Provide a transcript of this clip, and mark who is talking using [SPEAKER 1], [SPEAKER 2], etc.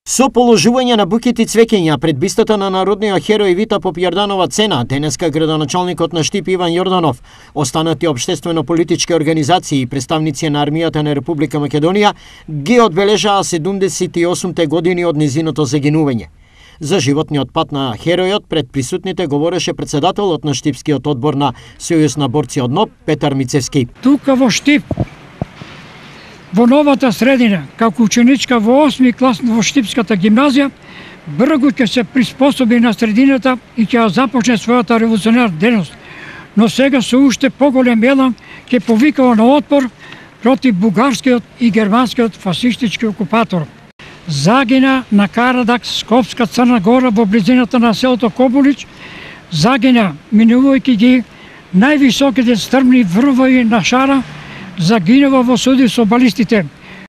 [SPEAKER 1] Со положување на букети цвеќења пред бистата на народниот херој Вита Попјарданова Цена, денеска градоначалникот на Штип Иван Јорданов, останати општествено-политички организации и представници на армијата на Република Македонија ги одбележаа 78-те години од низиното загинување. За животниот пат на херојот пред присутните говореше председателот на Штипскиот одбор на Сојуз на борци од НОБ Петар Мицевски.
[SPEAKER 2] Тука во Штип, во новата средина, како ученичка во 8 клас во Штипската гимназија, брзо ќе се приспособи на средината и ќе започне својата револуционарна дејност. Но сега со уште поголем елан ќе повикава на отпор против бугарскиот и германскиот фашистички окупатор. Загина на Карадак, Скопска Црна Гора во близината на селото Кобулич, загина минувајќи ги највисоките стрмни врвови на Шара, загинува во суди со балистите.